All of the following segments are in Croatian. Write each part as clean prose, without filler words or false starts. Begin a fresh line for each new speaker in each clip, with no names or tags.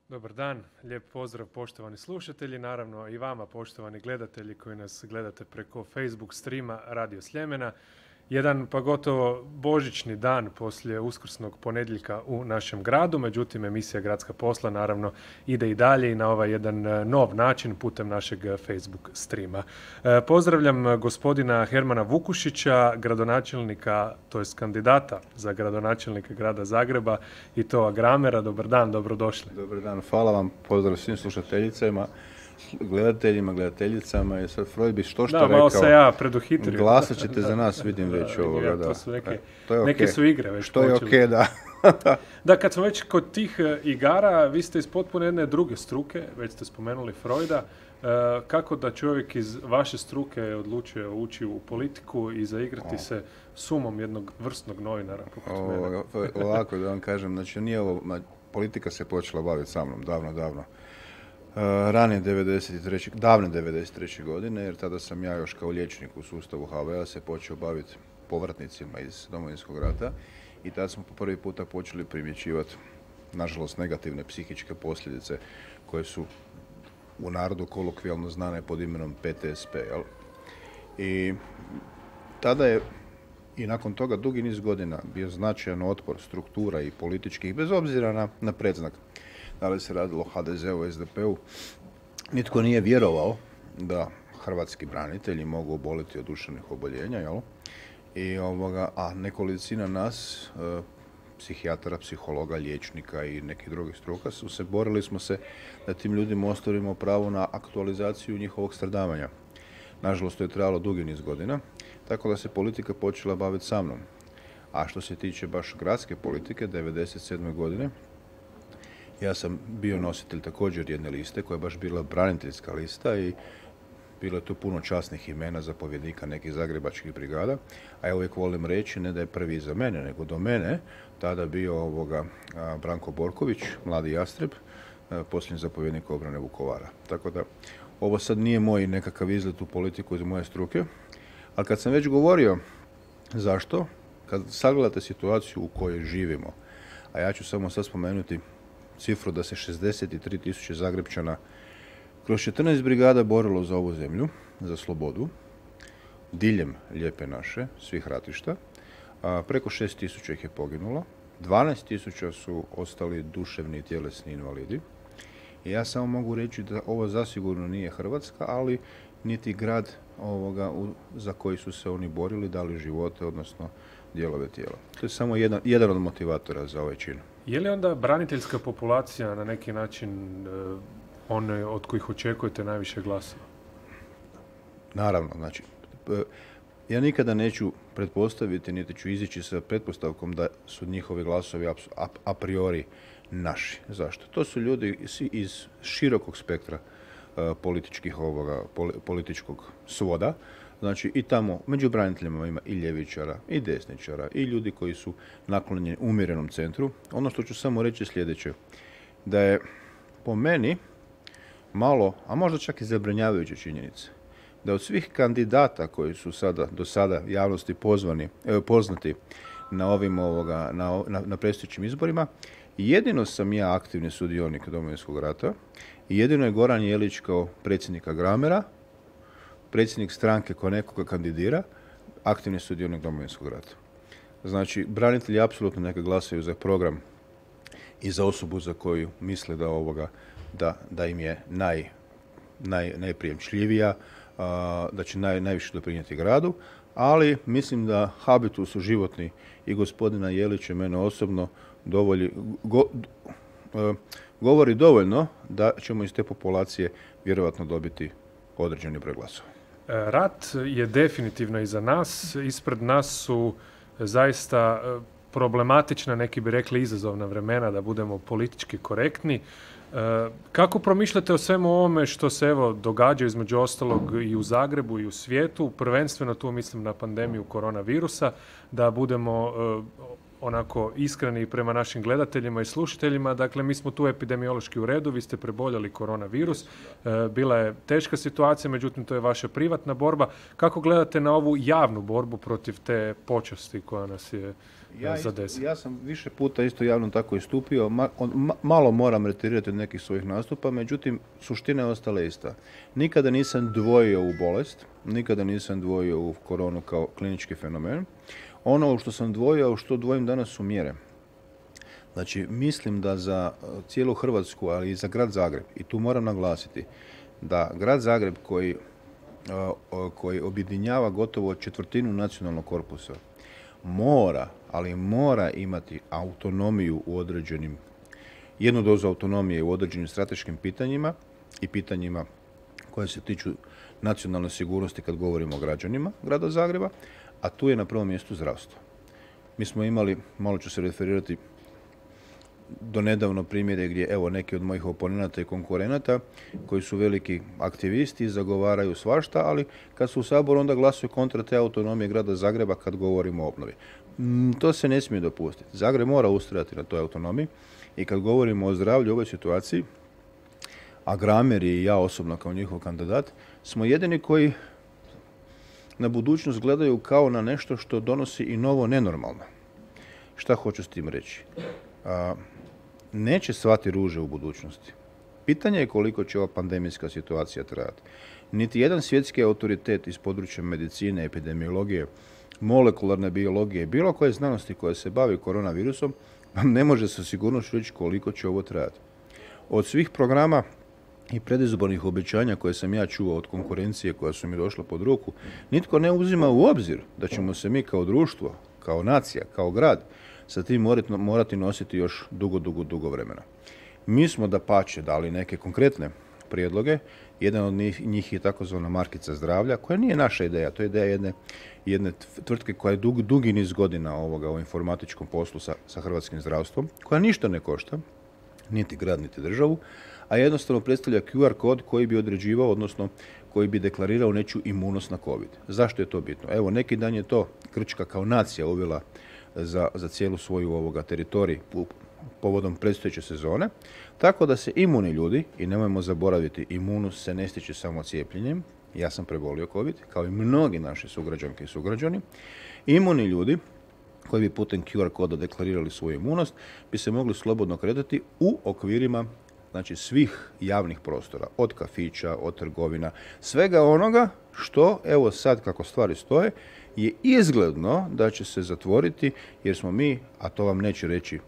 Dobar dan, lijep pozdrav poštovani slušatelji, naravno i vama poštovani gledatelji koji nas gledate preko Facebook streama Radio Sljemena. Jedan pa gotovo božićni dan poslije uskrsnog ponedjeljka u našem gradu, međutim emisija Gradska posla naravno ide i dalje i na ovaj jedan nov način putem našeg Facebook streama. Pozdravljam gospodina Hermana Vukušića, gradonačelnika, to jest kandidata za gradonačelnika grada Zagreba i to Agramera. Dobar dan, dobrodošli.
Dobar dan, hvala vam, pozdrav svim slušateljicama, gledateljima, gledateljicama. Je sad Freud bi što rekao.
Malo se ja preduhitrio.
Glasat ćete za nas, vidim već ovoga.
Da. To su neke
okay.
su igre već
što
počeli.
Je da.
Da, kad smo već kod tih igara, vi ste iz potpuno jedne druge struke, već ste spomenuli Freuda. Kako da čovjek iz vaše struke odlučuje ući u politiku i zaigrati se sumom jednog vrsnog novinara poput mene?
Ovako da vam kažem, znači nije ovo, politika se počela baviti sa mnom davno. Ranije davne 93. godine, jer tada sam ja još kao liječnik u sustavu HV-a se počeo baviti povratnicima iz Domovinskog rata i tada smo po prvi puta počeli primjećivati, nažalost, negativne psihičke posljedice koje su u narodu kolokvijalno znane pod imenom PTSP. Jel? I tada je i nakon toga dugi niz godina bio značajan otpor struktura i političkih, bez obzira na predznak. Da li se radilo o HDZ-u, SDP-u, nitko nije vjerovao da hrvatski branitelji mogu oboliti od duševnih oboljenja, jel? A nekolicina nas, psihijatara, psihologa, liječnika i nekih drugih struka, borili smo se da tim ljudima ostavimo pravo na aktualizaciju njihovog stradavanja. Nažalost, to je trajalo dugi niz godina, tako da se politika počela baviti sa mnom. A što se tiče baš gradske politike, 1997. godine, ja sam bio nositelj također jedne liste koja je baš bila braniteljska lista i bilo je tu puno časnih imena zapovjednika nekih zagrebačkih brigada, a ja uvijek volim reći ne da je prvi iza mene, nego do mene tada bio Branko Borković, mladi jastreb, posljednji zapovjednik obrane Vukovara. Tako da ovo sad nije moj nekakav izlet u politiku iz moje struke, ali kad sam već govorio zašto, kad sagledate situaciju u kojoj živimo, a ja ću samo sad spomenuti cifru da se 63.000 Zagrepčana kroz 14 brigada borilo za ovu zemlju, za slobodu, diljem Lijepe naše, svih ratišta. Preko 6.000 ih je poginulo, 12.000 su ostali duševni i tjelesni invalidi. I ja samo mogu reći da ovo zasigurno nije Hrvatska, ali niti grad za koji su se oni borili, dali živote, odnosno dijelove tijela. To je samo jedan od motivatora za ovaj čin.
Je li onda braniteljska populacija na neki način one od kojih očekujete najviše glasova?
Naravno, znači, ja nikada neću pretpostaviti, niti ću izići sa pretpostavkom da su njihovi glasovi a priori naši. Zašto? To su ljudi iz širokog spektra političkog svoda. Znači i tamo među braniteljima ima i ljevičara, i desničara, i ljudi koji su naklonjeni umjerenom centru. Ono što ću samo reći sljedeće, da je po meni malo, a možda čak i zabrinjavajuće činjenice, da od svih kandidata koji su do sada javnosti poznati na ovim na predstojećim izborima, jedino sam ja aktivni sudionik Domovinskog rata i jedino je Goran Jelić kao predsjednik Agramera, predsjednik stranke koja nekoga kandidira, aktivni sudionik Domovinskog rata. Znači, branitelji apsolutno neka glasaju za program i za osobu za koju misle da im je najprijemčljivija, da će najviše doprinijeti gradu, ali mislim da habitusu životni i gospodina Jelića, mene osobno, govori dovoljno da ćemo iz te populacije vjerojatno dobiti određeni broj glasova.
Rat je definitivno iza nas. Ispred nas su zaista problematična, neki bi rekli izazovna vremena, da budemo politički korektni. Kako promišljate o svemu ovome što se događa između ostalog i u Zagrebu i u svijetu, prvenstveno tu mislim na pandemiju koronavirusa, da budemo onako iskreni prema našim gledateljima i slušateljima. Dakle, mi smo tu epidemiološki u redu, vi ste preboljeli koronavirus, bila je teška situacija, međutim to je vaša privatna borba. Kako gledate na ovu javnu borbu protiv te počasti koja nas je zadesi.
Ja sam više puta isto javno tako istupio, malo moram retirirati od nekih svojih nastupa, međutim, suština je ostala ista. Nikada nisam dvojio u bolest, nikada nisam dvojio u koronu kao klinički fenomen. Ono u što sam dvojio, u što dvojim danas su mjere. Znači, mislim da za cijelu Hrvatsku, ali i za grad Zagreb, i tu moram naglasiti, da grad Zagreb koji objedinjava gotovo četvrtinu nacionalnog korpusa, mora imati autonomiju u određenim, jednu dozu autonomije u određenim strateškim pitanjima i pitanjima koje se tiču nacionalne sigurnosti kad govorimo o građanima grada Zagreba, a tu je na prvom mjestu zdravstvo. Mi smo imali, malo ću se referirati, do nedavno primjere gdje, evo, neki od mojih oponenata i konkurenata koji su veliki aktivisti, zagovaraju svašta, ali kad su u Saboru onda glasuju kontra te autonomije grada Zagreba kad govorimo o obnovi. To se ne smije dopustiti. Zagreb mora ustrajati na toj autonomiji i kad govorimo o zdravlju u ovoj situaciji, a Gramer i ja osobno kao njihov kandidat, smo jedini koji na budućnost gledaju kao na nešto što donosi i novo nenormalno. Šta hoću s tim reći? Neće cvati ruže u budućnosti. Pitanje je koliko će ova pandemijska situacija trajati. Niti jedan svjetski autoritet iz područja medicine, epidemiologije, molekularne biologije, bilo koje znanosti koja se bavi koronavirusom, ne može sa sigurnošću reći koliko će ovo trajati. Od svih programa i predizbornih obećanja koje sam ja čuo od konkurencije koja su mi došla pod ruku, nitko ne uzima u obzir da ćemo se mi kao društvo, kao nacija, kao grad, sa tim morati nositi još dugo vremena. Mi smo dapače dali neke konkretne prijedloge. Jedan od njih je takozvana markica zdravlja, koja nije naša ideja, to je ideja jedne tvrtke koja je dugi niz godina u informatičkom poslu sa hrvatskim zdravstvom, koja ništa ne košta, niti grad, niti državu, a jednostavno predstavlja QR kod koji bi određivao, odnosno koji bi deklarirao nečiju imunost na COVID. Zašto je to bitno? Evo, neki dan je to Grčka kao nacija uvela za cijelu svoju teritorij povodom predstojeće sezone, tako da se imuni ljudi, i nemojmo zaboraviti, imunost se ne stiče samo cijepljenjem, ja sam prebolio COVID, kao i mnogi naši sugrađanke i sugrađani, imuni ljudi koji bi putem QR koda deklarirali svoju imunost, bi se mogli slobodno kretati u okvirima, znači, svih javnih prostora, od kafića, od trgovina, svega onoga što, evo sad kako stvari stoje, je izgledno da će se zatvoriti, jer smo mi, a to vam neće reći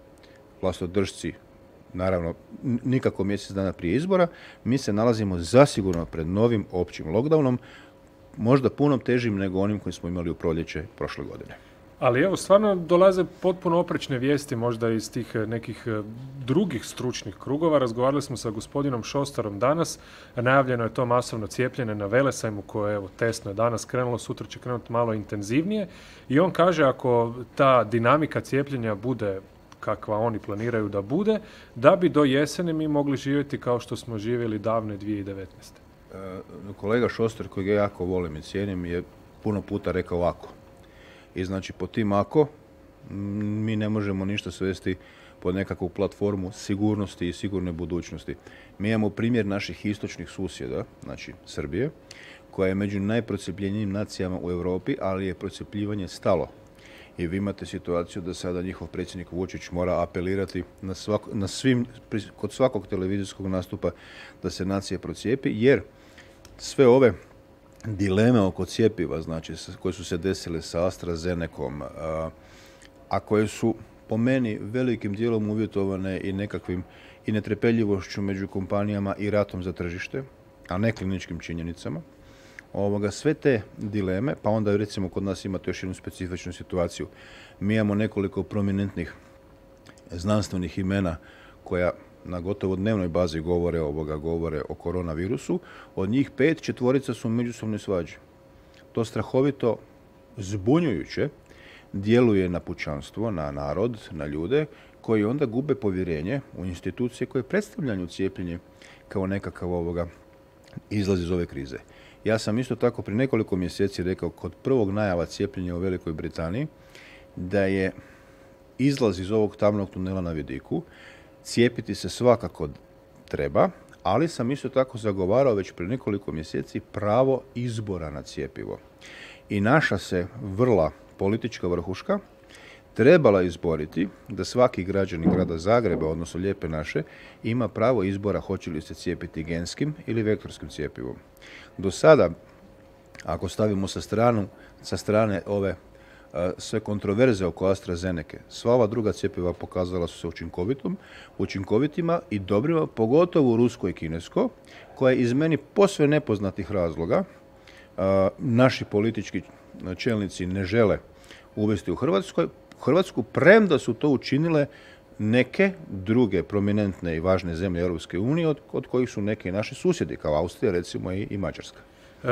vlastodržci, naravno nikako mjesec dana prije izbora, mi se nalazimo zasigurno pred novim općim lockdownom, možda puno težim nego onim koji smo imali u proljeće prošle godine.
Ali evo, stvarno dolaze potpuno oprečne vijesti možda iz tih nekih drugih stručnih krugova. Razgovarali smo sa gospodinom Šostarom danas. Najavljeno je to masovno cijepljenje na Velesajmu koje, evo, testno je danas krenulo, sutra će krenuti malo intenzivnije. I on kaže, ako ta dinamika cijepljenja bude kakva oni planiraju da bude, da bi do jesene mi mogli živjeti kao što smo živjeli davne 2019.
Kolega Šostar, kojeg ja jako volim i cijenim, je puno puta rekao ovako. I znači, po tim ako, mi ne možemo ništa svesti pod nekakvu platformu sigurnosti i sigurne budućnosti. Mi imamo primjer naših istočnih susjeda, znači Srbije, koja je među najprocijepljenijim nacijama u Europi, ali je procjepljivanje stalo. I vi imate situaciju da sada njihov predsjednik Vučić mora apelirati kod svakog televizijskog nastupa da se nacija procijepi, jer sve ove dileme oko cjepiva, znači, koje su se desile sa AstraZenecom, a koje su po meni velikim dijelom uvjetovane i nekakvim i netrpeljivošću među kompanijama i ratom za tržište, a ne kliničkim činjenicama, sve te dileme, pa onda recimo kod nas imate još jednu specifičnu situaciju. Mi imamo nekoliko prominentnih znanstvenih imena koja na gotovo dnevnoj bazi govore o koronavirusu. Od njih 4 su u međusobnoj svađi. To strahovito zbunjujuće djeluje na pučanstvo, na narod, na ljude, koji onda gube povjerenje u institucije koje predstavljaju cijepljenje kao nekakav izlaz iz ove krize. Ja sam isto tako prije nekoliko mjeseci rekao kod prvog najava cijepljenja u Velikoj Britaniji da je izlaz iz ovog tamnog tunela na vidiku. Cijepiti se svakako treba, ali sam isto tako zagovarao već prije nekoliko mjeseci pravo izbora na cjepivo. I naša se vrla politička vrhuška trebala izboriti da svaki građanin grada Zagreba, odnosno Lijepe naše, ima pravo izbora hoće li se cijepiti genskim ili vektorskim cjepivom. Do sada, ako stavimo sa strane ove sve kontroverze oko AstraZeneke, sva ova druga cjepiva pokazala su se učinkovitima i dobrima, pogotovo rusko i kinesko, koje iz meni posve nepoznatih razloga naši politički čelnici ne žele uvesti u Hrvatsku, premda su to učinile neke druge prominentne i važne zemlje Europske unije, od kojih su neki naši susjedi, kao Austrija recimo i Mađarska.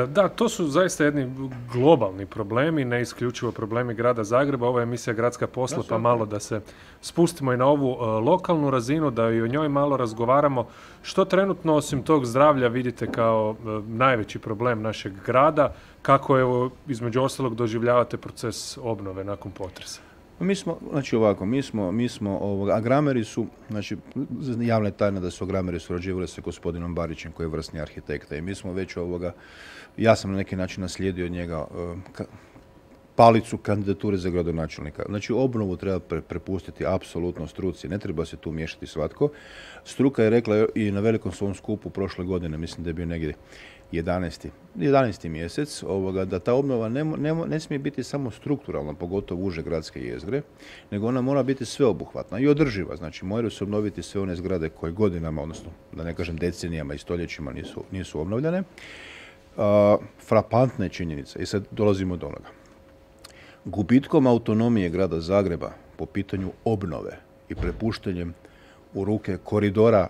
Da, to su zaista jedni globalni problemi, ne isključivo problemi grada Zagreba. Ova emisija Gradska posla, pa malo da se spustimo i na ovu lokalnu razinu, da i o njoj malo razgovaramo. Što trenutno, osim tog zdravlja, vidite kao najveći problem našeg grada? Kako, evo, između ostalog, doživljavate proces obnove nakon potresa?
Mi smo, Agrameri su, javna je tajna da su Agrameri surađivali sa gospodinom Barićem, koji je vrsni arhitekta, i mi smo već ja sam na neki način naslijedio od njega palicu kandidature za gradonačelnika. Znači, obnovu treba prepustiti apsolutno struci, ne treba se tu miješati svatko. Struka je rekla i na velikom svom skupu prošle godine, mislim da je bio negdje 11. mjesec, da ta obnova ne smije biti samo strukturalna, pogotovo uže gradske jezgre, nego ona mora biti sveobuhvatna i održiva. Znači, moraju se obnoviti sve one zgrade koje godinama, odnosno da ne kažem decenijama i stoljećima nisu obnovljene. Frapantna je činjenica, i sad dolazimo do onoga. Gubitkom autonomije grada Zagreba po pitanju obnove i prepuštanjem u ruke koridora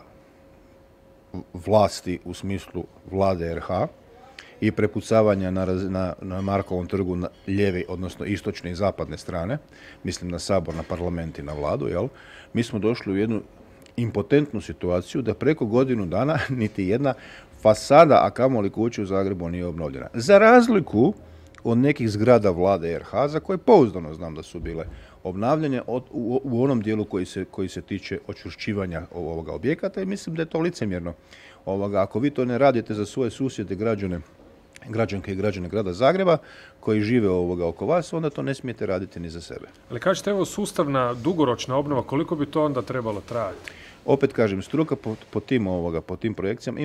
vlasti u smislu vlade RH i prepucavanja na Markovom trgu na lijevi, odnosno istočne i zapadne strane, mislim na Sabor, na parlament i na vladu, mi smo došli u jednu impotentnu situaciju da preko godinu dana niti jedna fasada, a kamoli kuće u Zagrebu nije obnovljena. Za razliku od nekih zgrada vlade RH, za koje pouzdano znam da su bile obnavljanje u onom dijelu koji se tiče očvršćivanja ovoga objekata, i mislim da je to licemjerno. Ako vi to ne radite za svoje susjede, građanke i građane grada Zagreba koji žive oko vas, onda to ne smijete raditi ni za sebe.
Ali kažete, evo, sustavna dugoročna obnova, koliko bi to onda trebalo trajati?
Opet kažem, struka po tim projekcijama,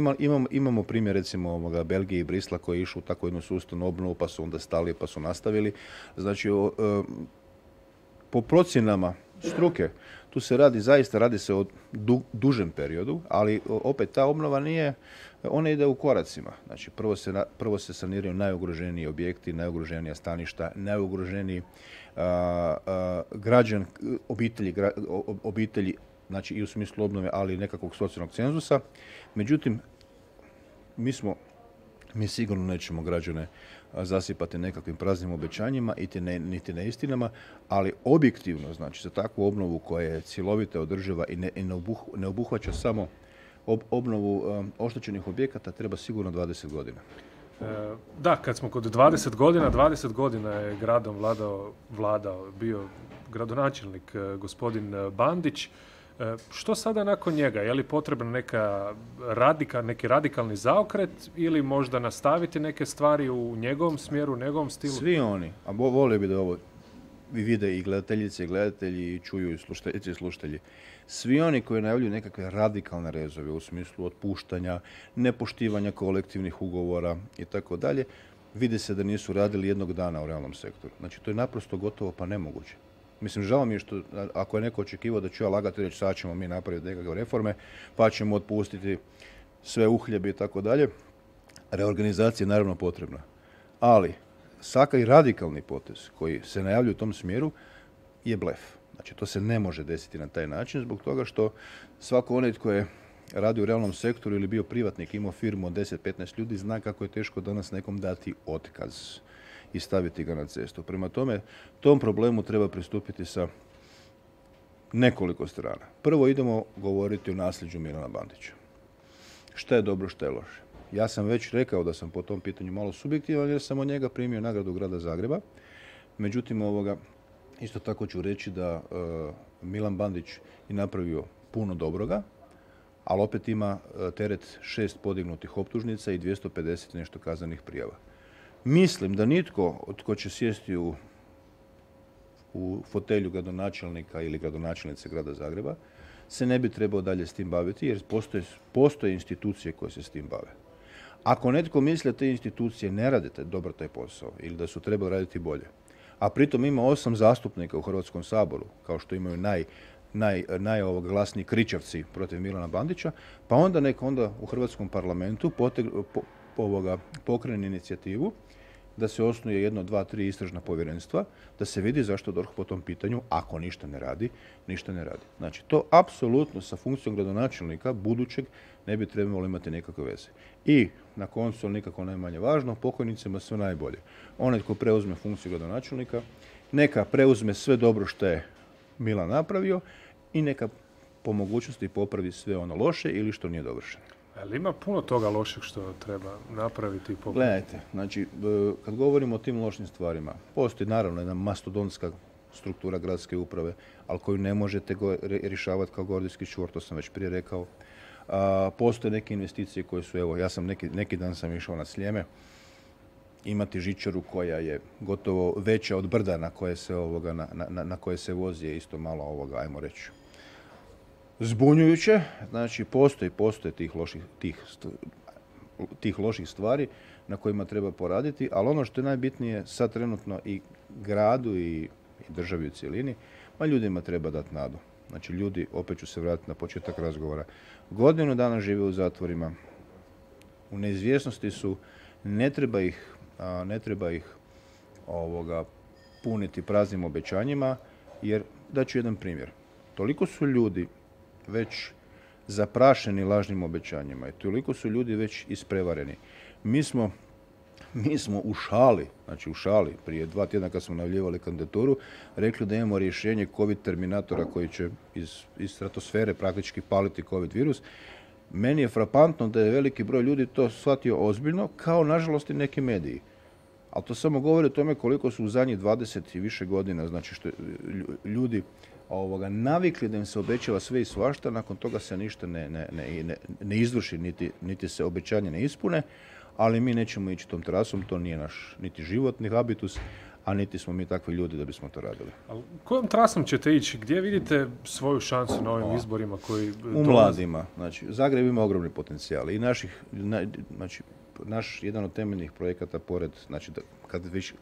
imamo primjer recimo Belgije i Brisla koji je išao u takvu jednu sustavnu obnovu, pa su onda stali, pa su nastavili. Znači, po procjenama struke, tu se radi se o dužem periodu, ali opet ta obnova ona ide u koracima. Znači, prvo se saniraju najugroženiji objekti, najugroženija staništa, najugroženiji obitelji, znači i u smislu obnove, ali i nekakvog socijalnog cenzusa. Međutim, mi sigurno nećemo građane zasipati nekakvim praznim obećanjima, niti neistinama, ali objektivno, znači za takvu obnovu koja je cjelovita, održiva i ne obuhvaća samo obnovu oštećenih objekata, treba sigurno 20 godina.
Da, kad smo kod 20 godina je gradom vladao, bio gradonačelnik gospodin Bandić. Što sada nakon njega? Je li potrebno neki radikalni zaokret ili možda nastaviti neke stvari u njegovom smjeru, u njegovom stilu?
Svi oni, a volio bi da ovo vide i gledateljice i gledatelji, i čuju i slušateljice i slušatelji, svi oni koji najavljuju nekakve radikalne rezove u smislu otpuštanja, nepoštivanja kolektivnih ugovora i tako dalje, vide se da nisu radili jednog dana u realnom sektoru. Znači, to je naprosto gotovo pa nemoguće. Mislim, žao mi je što, ako je neko očekivao da ću ja lagati reći sad ćemo mi napraviti nekakve reforme, pa ćemo otpustiti sve uhljebe i tako dalje, reorganizacija je naravno potrebna. Ali, svaki i radikalni potez koji se najavljuje u tom smjeru je blef. Znači, to se ne može desiti na taj način zbog toga što svako onaj tko je radio u realnom sektoru ili bio privatnik, imao firmu od 10-15 ljudi, zna kako je teško danas nekom dati otkaz i staviti ga na cestu. Prema tome, tom problemu treba pristupiti sa nekoliko strana. Prvo idemo govoriti o nasljeđu Milana Bandića. Šta je dobro, šta je loše. Ja sam već rekao da sam po tom pitanju malo subjektivan jer sam od njega primio nagradu grada Zagreba. Međutim, isto tako ću reći da Milan Bandić je napravio puno dobroga, ali opet ima teret 6 podignutih optužnica i 250 nešto kaznenih prijava. Mislim da nitko tko će sjesti u u fotelju gradonačelnika ili gradonačelnice grada Zagreba se ne bi trebao dalje s tim baviti jer postoje institucije koje se s tim bave. Ako netko misli da te institucije ne radite dobro taj posao ili da su trebali raditi bolje, a pritom ima 8 zastupnika u Hrvatskom saboru, kao što imaju najglasniji kričavci protiv Milana Bandića, pa onda nek onda u Hrvatskom parlamentu pokrene inicijativu da se osnuje 1, 2, 3 istražna povjerenstva, da se vidi zašto DORH po tom pitanju, ako ništa ne radi. Znači, to apsolutno sa funkcijom gradonačelnika budućeg ne bi trebalo imati nekakve veze. I na koncu, nikako najmanje važno, pokojnicima sve najbolje. Onaj tko preuzme funkciju gradonačelnika, neka preuzme sve dobro što je Milan napravio i neka po mogućnosti popravi sve ono loše ili što nije dovršeno.
Ali ima puno toga lošeg što treba napraviti i popraviti?
Gledajte, znači, kad govorimo o tim lošim stvarima, postoji naravno jedna mastodontska struktura gradske uprave, ali koju ne možete rješavati kao gordijski čvor, to sam već prije rekao. Postoje neke investicije koje su, evo, ja sam neki dan sam išao na Sljeme, imati žičaru koja je gotovo veća od brda na koje se vozi je isto malo ajmo reći, zbunjujuće. Znači, postoje tih loših stvari na kojima treba poraditi, ali ono što je najbitnije sad trenutno i gradu i državi u cjelini, ljudima treba dati nadu. Znači, ljudi, opet ću se vratiti na početak razgovora, godinu dana žive u zatvorima, u neizvjesnosti su, ne treba ih puniti praznim obećanjima, jer daću jedan primjer. Toliko su ljudi već zaprašeni lažnim obećanjima i toliko su ljudi već isprevareni. Mi smo u šali, prije 2 tjedna kad smo najavljivali kandidaturu, rekli da imamo rješenje COVID terminatora koji će iz stratosfere praktički paliti COVID virus. Meni je frapantno da je veliki broj ljudi to shvatio ozbiljno, kao nažalost i neki mediji. Ali to samo govori o tome koliko su u zadnjih 20 i više godina, znači što ljudi navikli da im se obećava sve i svašta, nakon toga se ništa ne izvrši, niti se obećanje ne ispune, ali mi nećemo ići tom trasom, to nije naš niti životni habitus, a niti smo mi takvi ljudi da bismo to radili.
Ali kojom trasom ćete ići? Gdje vidite svoju šansu na ovim izborima koji
u mladima. Znači, Zagreb ima ogromni potencijal i naš jedan od temeljnih projekata pored, znači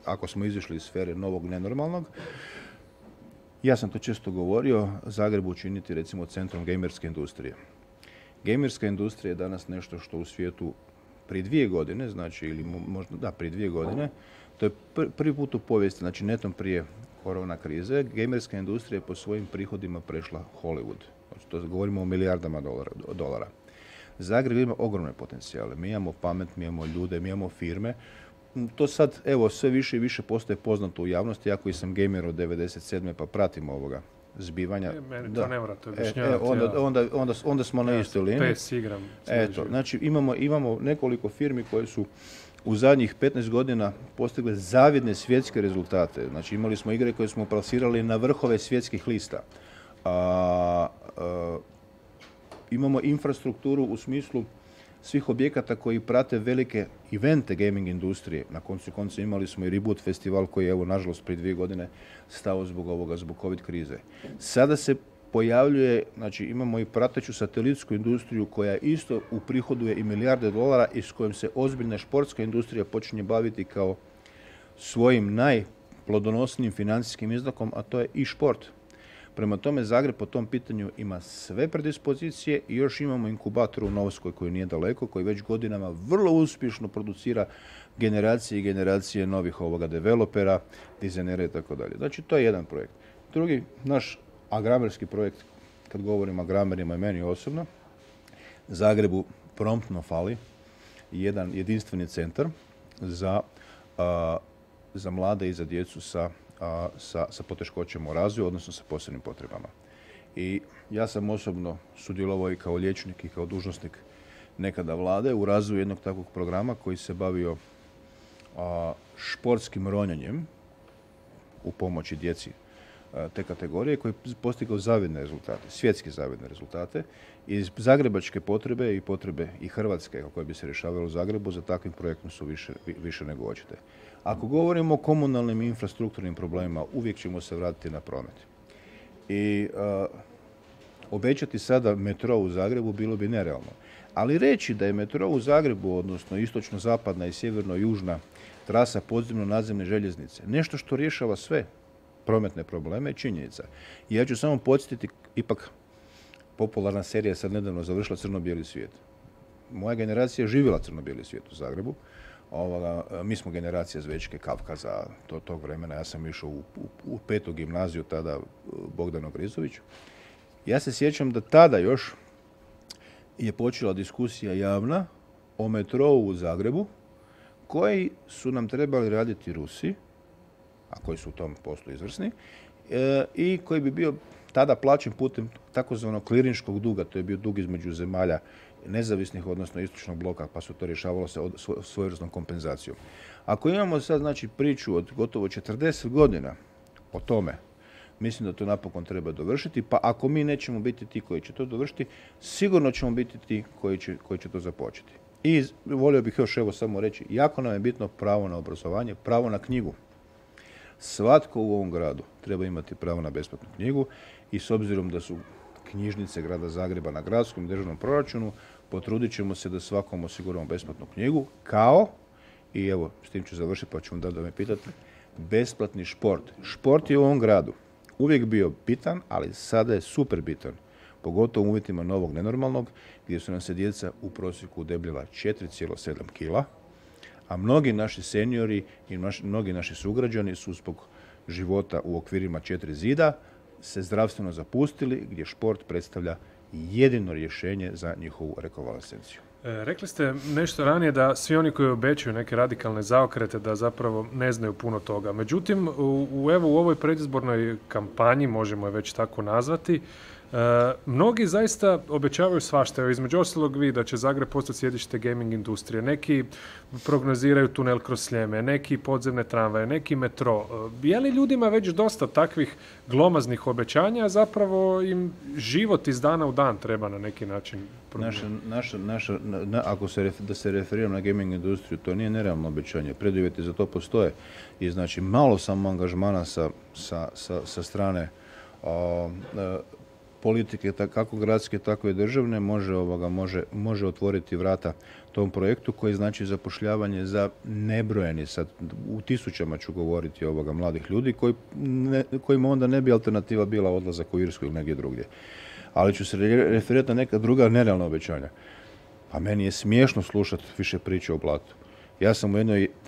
ako smo izišli iz sfere novog nenormalnog, ja sam to često govorio, Zagreb učiniti recimo centrom gamerske industrije. Gamerska industrija je danas nešto što u svijetu prije 2 godine, znači, ili možda, prije 2 godine, to je prvi put u povijesti, znači netom prije korona krize, gamerska industrija je po svojim prihodima prešla Hollywood. Znači, to govorimo o milijardama dolara. Zagreb ima ogromne potencijale. Mi imamo pamet, mi imamo ljude, mi imamo firme. To sad, evo, sve više i više postaje poznato u javnosti. Ja koji sam gamer od 97. pa pratim ovoga zbivanja.
Meni to ne morate objašnjavati.
Onda smo na istoj liniji.
PES igram.
Eto, znači imamo nekoliko firmi koje su u zadnjih 15 godina postigle zavidne svjetske rezultate. Znači, imali smo igre koje smo plasirali na vrhove svjetskih lista. Imamo infrastrukturu u smislu svih objekata koji prate velike evente gaming industrije. Na koncu konca imali smo i Reboot festival koji je, evo, nažalost, prije 2 godine stao zbog COVID krize. Sada se pojavljuje, znači imamo i prateću satelitsku industriju koja isto uprihoduje i milijarde dolara i s kojom se ozbiljna športska industrija počinje baviti kao svojim najplodonosnijim financijskim izdakom, a to je i šport. Prema tome, Zagreb po tom pitanju ima sve predispozicije i još imamo inkubator u Novskoj koji nije daleko, koji već godinama vrlo uspješno producira generacije i generacije novih developera, dizajnera i tako dalje. Znači, to je jedan projekt. Drugi, naš agramerski projekt, kad govorimo o agramerima i meni osobno, Zagrebu promptno fali jedan jedinstveni centar za mlade i za djecu sa poteškoćama u razvoju, odnosno sa posebnim potrebama. I ja sam osobno sudjelovao i kao liječnik i kao dužnosnik nekada vlade u razvoju jednog takvog programa koji se bavio športskim ronjenjem u pomoći djeci te kategorije koji je postigao zavidne rezultate, svjetski zavidne rezultate. I zagrebačke potrebe i potrebe i Hrvatske koje bi se rješavalo u Zagrebu za takvim projektom su više nego očite. Ako govorimo o komunalnim i infrastrukturnim problemima, uvijek ćemo se vratiti na promet. I obećati sada metro u Zagrebu bilo bi nerealno. Ali reći da je metro u Zagrebu, odnosno istočno-zapadna i sjeverno-južna trasa podzemno-nadzemne željeznice, nešto što rješava sve prometne probleme je činjenica. I ja ću samo podsjetiti, ipak popularna serija sad nedavno završila Crno-bijeli svijet. Moja generacija je živjela Crno-bijeli svijet u Zagrebu. Mi smo generacija Zvečke, Kavkaza, tog vremena. Ja sam išao u 5. gimnaziju, tada Bogdano Grizović. Ja se sjećam da tada još je počela diskusija javna o metrou u Zagrebu, koji su nam trebali raditi Rusi, a koji su u tom poslu izvrsni, i koji bi bio tada plaćen putem takozvanog klirinškog duga, to je bio dug između zemalja nezavisnih, odnosno istočnog bloka, pa su to rješavalo se svojevrsnom kompenzacijom. Ako imamo sad znači priču od gotovo 40 godina o tome, mislim da to napokon treba dovršiti, pa ako mi nećemo biti ti koji će to dovršiti, sigurno ćemo biti ti koji će to započeti. I volio bih još evo samo reći, jako nam je bitno pravo na obrazovanje, pravo na knjigu. Svatko u ovom gradu treba imati pravo na besplatnu knjigu i s obzirom da su knjižnice grada Zagreba na gradskom i državnom proračunu, potrudit ćemo se da svakom osiguramo besplatnu knjigu, kao, i evo s tim ću završiti pa ću vam da me pitate, besplatni šport. Šport je u ovom gradu uvijek bio bitan, ali sada je super bitan. Pogotovo u uvjetima novog nenormalnog, gdje su nam se djeca u prosjeku udebljala 4,7 kila, a mnogi naši seniori i mnogi naši sugrađani su zbog života u okvirima 4 zida se zdravstveno zapustili, gdje šport predstavlja jedino rješenje za njihovu rekonvalescenciju.
Rekli ste nešto ranije da svi oni koji obećaju neke radikalne zaokrete da zapravo ne znaju puno toga. Međutim, u ovoj predizbornoj kampanji, možemo je već tako nazvati, mnogi zaista obećavaju svašta. Evo, između ostalog vi da će Zagreb postati sjedište gaming industrije. Neki prognoziraju tunel kroz Sljeme, neki podzemne tramvaje, neki metro. Je li ljudima već dosta takvih glomaznih obećanja, a zapravo im život iz dana u dan treba na neki način promijeniti?
Ako se referiram na gaming industriju, to nije nerealno obećanje. Preduvjeti za to postoje. I znači malo samo angažmana sa strane politike, kako gradske, tako i državne, može otvoriti vrata tom projektu koji znači zapošljavanje za nebrojeni, sad u tisućama ću govoriti mladih ljudi kojima onda ne bi alternativa bila odlazak u Irsku ili negdje drugdje. Ali ću se referirati na neka druga nerealna obećanja. Pa meni je smiješno slušati više priče o blatu. Ja sam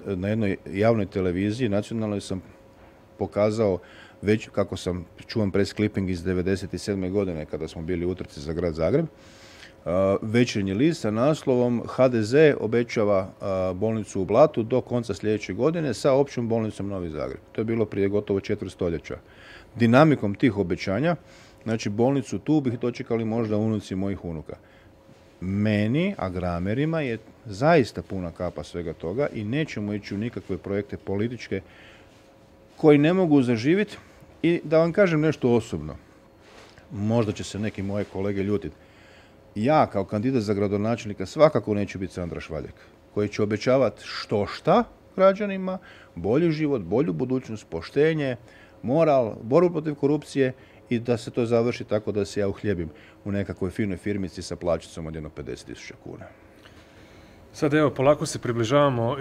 na jednoj javnoj televiziji, nacionalnoj, sam pokazao već kako sam čuvam press clipping iz 1997. godine kada smo bili u utrci za grad Zagreb. Večernji list sa naslovom HDZ obećava bolnicu u Blatu do konca sljedeće godine sa općom bolnicom Novi Zagreb. To je bilo prije gotovo 4 stoljeća. Dinamikom tih obećanja, znači bolnicu tu bih dočekali možda unuci mojih unuka. Meni, agramerima, je zaista puna kapa svega toga i nećemo ići u nikakve projekte političke koji ne mogu zaživjeti. I da vam kažem nešto osobno, možda će se neki moje kolege ljutiti. Ja kao kandidat za gradonačelnika svakako neću biti Sandra Švaljak, koji će obećavati štošta građanima, bolji život, bolju budućnost, poštenje, moral, borbu protiv korupcije i da se to završi tako da se ja uhljebim u nekakvoj finoj firmici sa plaćicom od 50.000 kuna.
Sad evo, polako se približavamo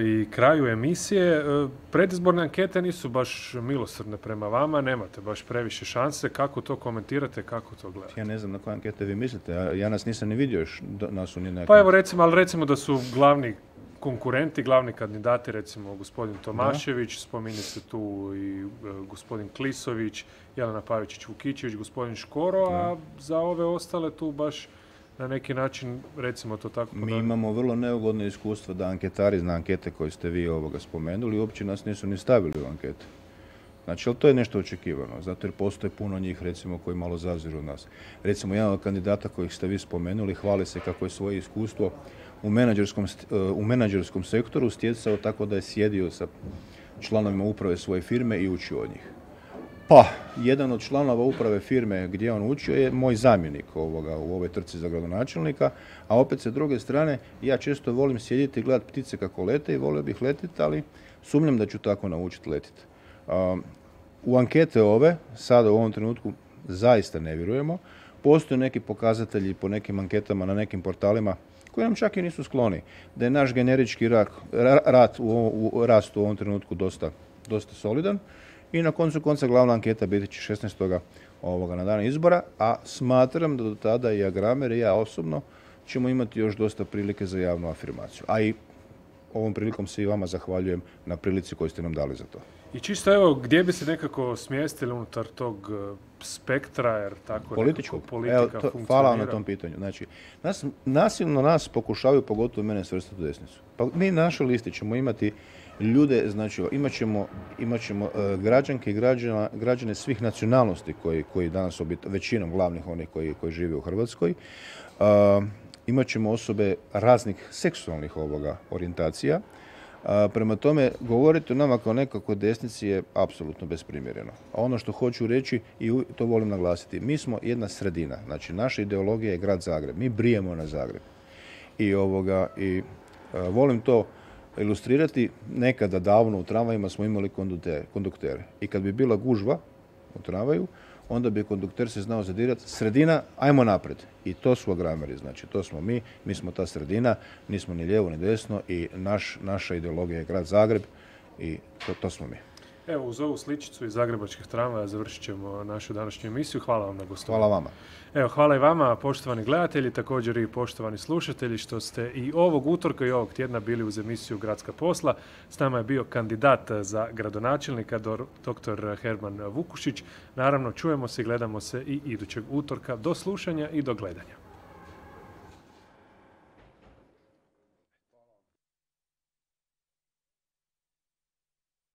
i kraju emisije. Predizborne ankete nisu baš milosrdne prema vama, nemate baš previše šanse. Kako to komentirate, kako to gledate?
Ja ne znam na koje ankete vi mislite, ja nas nisam ni vidio još.
Pa evo recimo da su glavni konkurenti, glavni kandidati, recimo gospodin Tomašević, spominje se tu i gospodin Klisović, Jelena Pavičić-Vukičević, gospodin Škoro, a za ove ostale tu baš na neki način, recimo to tako.
Mi imamo vrlo neugodno iskustvo da anketari na ankete koje ste vi spomenuli uopće nas nisu ni stavili u ankete. Znači, ali to je nešto očekivano, zato jer postoje puno njih, recimo, koji malo zaziru od nas. Recimo, jedan od kandidata kojih ste vi spomenuli hvali se kako je svoje iskustvo u menadžerskom sektoru stjecao tako da je sjedio sa članovima uprave svoje firme i učio od njih. Pa, jedan od članova uprave firme gdje on učio je moj zamjenik u ovoj trci za gradonačelnika, a opet sa druge strane ja često volim sjediti i gledati ptice kako lete i volio bih letiti, ali sumnjam da ću tako naučiti letiti. U ankete sada u ovom trenutku zaista ne vjerujemo. Postoje neki pokazatelji po nekim anketama na nekim portalima koji nam čak i nisu skloni, da je naš generički rast u ovom trenutku dosta solidan i na koncu konca glavna anketa biti će 16. na dan izbora, a smatram da do tada i Agramer i ja osobno ćemo imati još dosta prilike za javnu afirmaciju. A i ovom prilikom se i vama zahvaljujem na prilici koju ste nam dali za to.
I čisto evo, gdje bi se nekako smjestili unutar tog spektra, jer tako
politika
funkcionira?
Hvala vam na tom pitanju. Znači, nasilno nas pokušavaju, pogotovo mene, svrstati u desnicu. Pa mi na našoj listi ćemo imati ljude, znači imat ćemo građanke i građane svih nacionalnosti koji danas većinom glavnih onih koji žive u Hrvatskoj. Imat ćemo osobe raznih seksualnih orijentacija. Prema tome, govoriti o nama kao nekako desnici je apsolutno besprimjereno. A ono što hoću reći, i to volim naglasiti, mi smo jedna sredina. Znači, naša ideologija je grad Zagreb. Mi brijemo na Zagreb. I volim to ilustrirati. Nekada davno u tramvajima smo imali konduktere. I kad bi bila gužva u tramvaju, onda bi kondukter se znao zadirati. Sredina, ajmo naprijed. I to su Agrameri, znači to smo mi smo ta sredina, nismo ni lijevo ni desno i naša ideologija je grad Zagreb i to smo mi.
Evo, uz ovu sličicu iz zagrebačkih tramvaja završit ćemo našu današnju emisiju. Hvala vam na gostovanju.
Hvala vama.
Evo, hvala i vama, poštovani gledatelji, također i poštovani slušatelji, što ste i ovog utorka i ovog tjedna bili uz emisiju Gradska posla. S nama je bio kandidat za gradonačelnika, dr. Herman Vukušić. Naravno, čujemo se i gledamo se i idućeg utorka. Do slušanja i do gledanja.